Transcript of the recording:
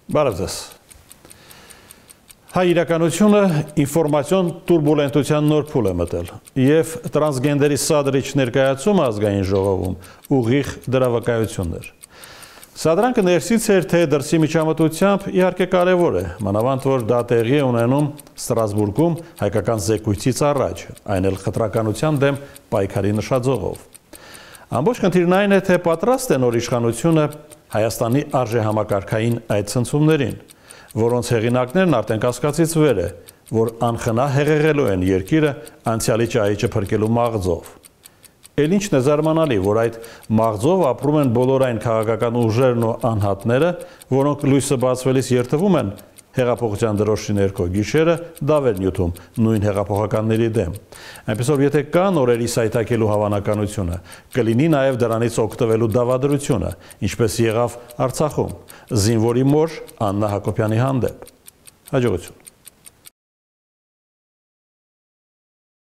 Բարև ձեզ։ Հայ իրականությունը ինֆորմացիոն տուրբուլենտության նոր փուլ է մտել եւ տրանսգենդերի սադրիչ ներկայացումը ազգային ժողովում ուղիղ դրա վկայություններ։ Սադրանքը ներսից էր, թե դրսի միջամտությամբ իհարկե կարևոր է, մանավանդ որ դա տեղի է ունենում Ստրասբուրգում հայկական զեկույցից առաջ, այն էլ խտրականության դեմ պայքարի նշաձողով։ Ամբողջ խնդիրն այն է, թե պատրաստ է նոր իշխանությունը Հայաստանի արժեհամակարգային այդ ցնցումներին, որոնց հեղինակներն արդեն կասկածից վեր է, որ անխնա հեղեղելու են երկիրը անցյալի ճահիճը փրկելու մաղձով։ Էլ ինչն է զարմանալի, որ այդ մաղձով ապրում են բոլոր այն քաղաքական ուժերն ու անհատները, որոնք լույսը բացվելիս երթվում են հեղափոխության դրոշի ներքո գիշերը դավեր նյութում նույն հեղափոխականների դեմ։ Այնպեսով եթե կա նորերի սայթաքելու հավանականությունը, կլինի նաև դրանից օգտվելու դավադրությունը, ինչպես եղավ Արցախում, զինվորի մոր Աննա Հակոբյանի հանդեպ։ Հաջողություն։